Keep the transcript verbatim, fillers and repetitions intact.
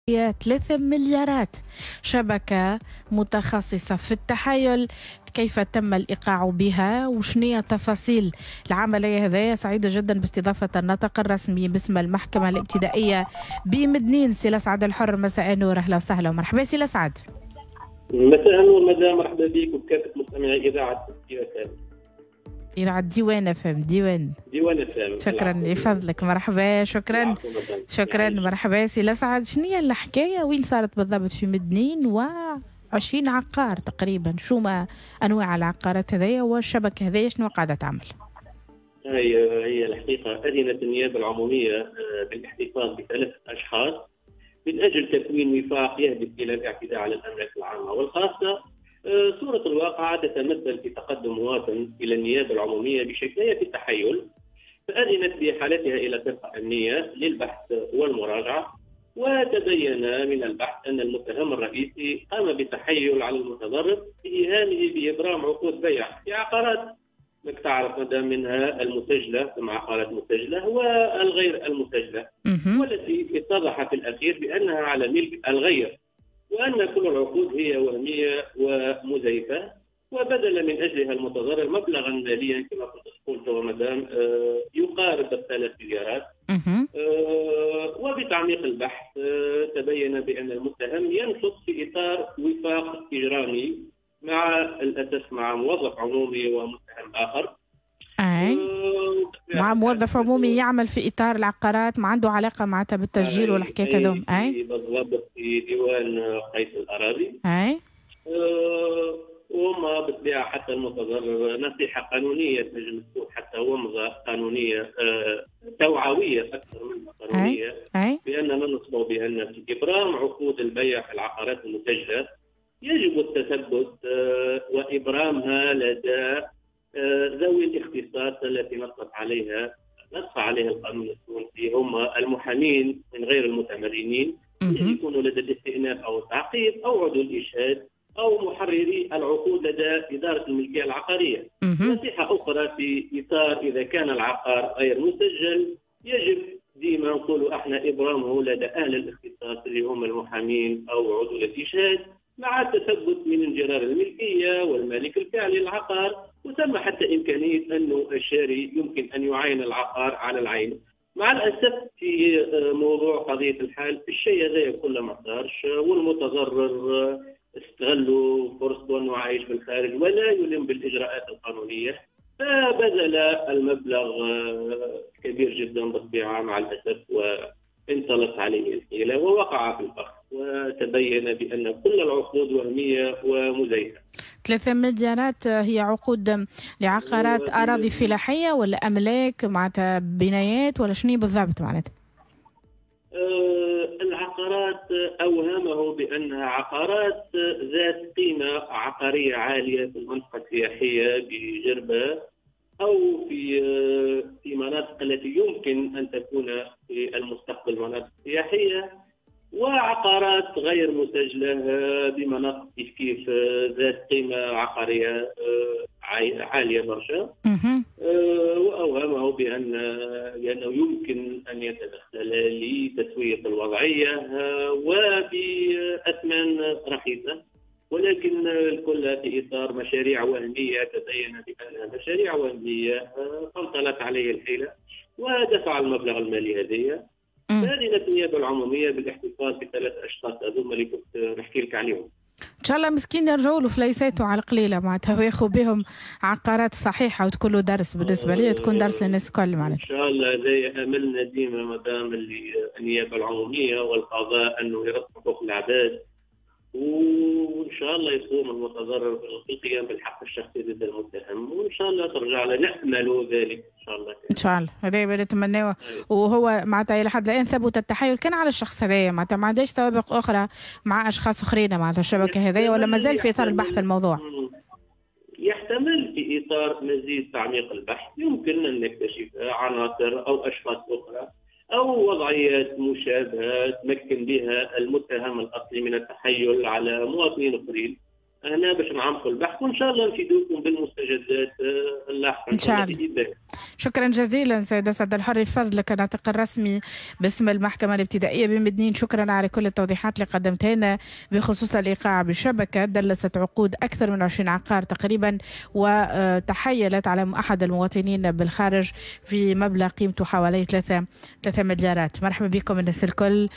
ثلاثة مليارات. شبكة متخصصة في التحايل، كيف تم الإيقاع بها وشنية تفاصيل العملية هذه؟ سعيدة جدا باستضافة الناطق الرسمي باسم المحكمة الابتدائية بمدنين، سي لسعد الحر. مساء النور، أهلا وسهلا ومرحبا سي لسعد. مساء النور مدام، مرحبا بك وبكافة مستمعي إذاعة إذاعة ديوان اف ام. ديوان ديوان اف ام. شكرا لفضلك، مرحبا. شكرا شكرا، مرحبا سي لسعد. شنو هي الحكاية، وين صارت بالضبط في مدنين و عشرين عقار تقريبا؟ شو ما انواع العقارات هذيا والشبكة هذيا شنو قاعدة تعمل؟ هي هي الحقيقة اذنت النيابة العمومية بالاحتفاظ بثلاث اشخاص من اجل تكوين وفاق يهدف الى الاعتداء على الاملاك العامة والخاصة. صورة الواقعة تتمثل في تقدم مواطن إلى النيابة العمومية بشكاية التحيل، فأذنت بإحالتها إلى فرقة أمنية للبحث والمراجعة، وتبين من البحث أن المتهم الرئيسي قام بالتحيل على المتضرر بإيهامه بإبرام عقود بيع في عقارات تعرف مدى منها المسجلة، ثم عقارات مسجلة والغير المسجلة، والتي اتضح في الأخير بأنها على ملك الغير، وأن كل العقود هي وهمية ومزيفة، وبذل من أجلها المتضرر مبلغا ماليا كما كنت تقول مدام يقارب الثلاث مليارات. وبتعميق البحث تبين بأن المتهم ينشط في إطار وفاق إجرامي مع الأسف مع موظف عمومي ومتهم آخر. أي مع موظف عمومي يعمل في إطار العقارات، ما عنده علاقة معناتها بالتسجيل والحكايات هذوم. أي بالضبط، في ديوان قيس الأراضي. أي أه وما بالطبيعة حتى المتضرر نصيحة قانونية تنجم تكون حتى ومضة قانونية أه توعوية أكثر منها قانونية. أي. بأننا ننصب بأن في إبرام عقود البيع في العقارات المسجلة يجب التثبت أه وإبرامها لدى ذوي الاختصاص التي نصت عليها نص عليها القانون التونسي، هم المحامين من غير المتمرنين اللي يكونوا لدى الاستئناف او التعقيب او عضو الاشهاد او محرري العقود لدى ادارة الملكية العقارية. نصيحة اخرى في اطار اذا كان العقار غير مسجل يجب ديما نقولوا احنا ابرامه لدى اهل الاختصاص اللي هم المحامين او عضو الاشهاد، مع التثبت من انجرار الملكية والمالك الفعلي للعقار، وثم حتى إمكانية أنه الشاري يمكن أن يعاين العقار على العين. مع الأسف في موضوع قضية الحال الشيء هذا كله ما صارش، والمتضرر استغلوا فرصته أنه عايش بالخارج ولا يلم بالإجراءات القانونية، فبذل المبلغ كبير جدا بالطبيعة مع الأسف، وانطلت عليه الحيلة ووقع في الفخ، وتبين بأن كل العقود وهمية ومزيفة. ثلاثة مليارات هي عقود لعقارات أراضي فلاحية ولا أملاك معناتها بنايات ولا شنو بالضبط معناتها؟ أه العقارات أوهمه بأنها عقارات ذات قيمة عقارية عالية في المنطقة السياحية بجربة أو في في مناطق التي يمكن أن تكون في المستقبل مناطق سياحية، وعقارات غير مسجلة بمناطق كيف كيف ذات قيمة عقارية عالية برشا. وأوهمه بأن بأنه يمكن أن يتدخل لتسوية الوضعية وبأثمان رخيصة، ولكن الكل في إطار مشاريع وهمية تبين بأنها مشاريع وهمية فانطلت عليه الحيلة ودفع المبلغ المالي هذه. أذنت النيابة العمومية بالاحتفاظ بثلاث أشخاص هذوما اللي كنت نحكي لك عليهم. إن شاء الله مسكين يرجعوا له فليساته على القليلة معناتها، وياخذوا بهم عقارات صحيحة وتكون له درس بالنسبة لي، تكون درس للناس الكل معناتها. إن شاء الله هذا أملنا ديما مدام اللي النيابة العمومية والقضاء أنه يرد حقوق العباد، وان شاء الله يقوم المتضرر بالقيام بالحق الشخصي ضد المتهم، وان شاء الله ترجع له، نامل ذلك ان شاء الله. ان شاء الله هذا اللي نتمناه. وهو معناتها الى حد الان ثبت التحايل كان على الشخص هذايا، معناتها ما عندهاش سوابق اخرى مع اشخاص اخرين معناتها الشبكة هذايا، ولا مازال في اطار البحث الموضوع؟ يحتمل في اطار مزيد تعميق البحث يمكن ان نكتشف عناصر او اشخاص اخرى أو وضعيات مشابهة تمكن بها المتهم الأصلي من التحيل على مواطنين آخرين. هنا باش نعمقوا البحث وان شاء الله نفيدوكم بالمستجدات اللاحقة ان شاء الله. شكرا جزيلا سيد اسعد الحري، فضلك الناطق الرسمي باسم المحكمة الابتدائية بمدنين، شكرا على كل التوضيحات اللي قدمتها لنا بخصوص الايقاع بشبكة دلست عقود اكثر من عشرين عقار تقريبا، وتحيلت على احد المواطنين بالخارج في مبلغ قيمته حوالي ثلاثة مليارات. مرحبا بكم الناس الكل.